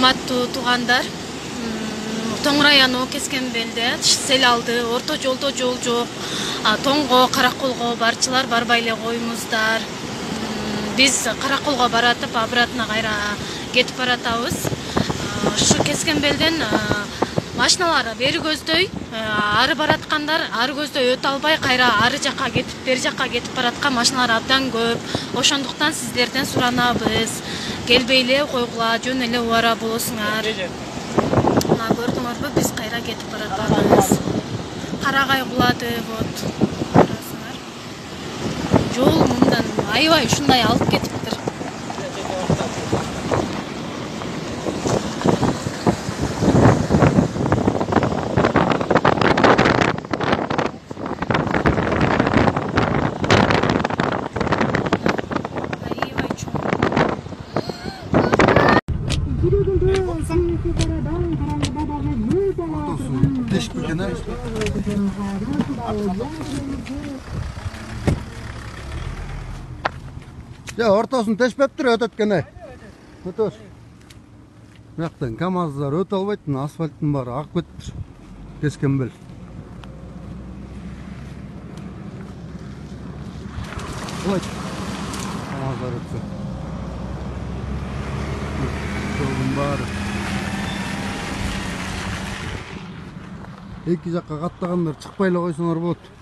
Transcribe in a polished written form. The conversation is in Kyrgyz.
урматтуу туугандар, Тоң району Кескенбелде сел алды, орто жолдо жол жок. Тоңго, Караколго барчылар барбай эле коюңуздар. Биз Караколго баратып, обратно кайра кетип баратабыз. Ушу Кескенбелден машиналар бери көздөй, ары бараткандар ары көздөй өтө албай, кайра ары жакка кетип, бери жакка кетип бараткан машиналар абдан көп. Ошондуктан сиздерден суранабыз. Келбей эле койгула, жөн эле убара болосуңар. Көрдүңөрбү, биз кайра кетип баратабыз. Карагай кулады, вот. Карасыңар. Жол мындан аябай ушундай алып кетиптир. Ya ортосын тешпептир өтөткене. Өтөс. Мактан КамАЗдар өтө албайт, асфальттын баары агып кетиптир. Кескенбел. Ой. КамАЗдар өтсө. Жолдун баары. Эки жакка каттагандар чыкпай эле койсоңор болот.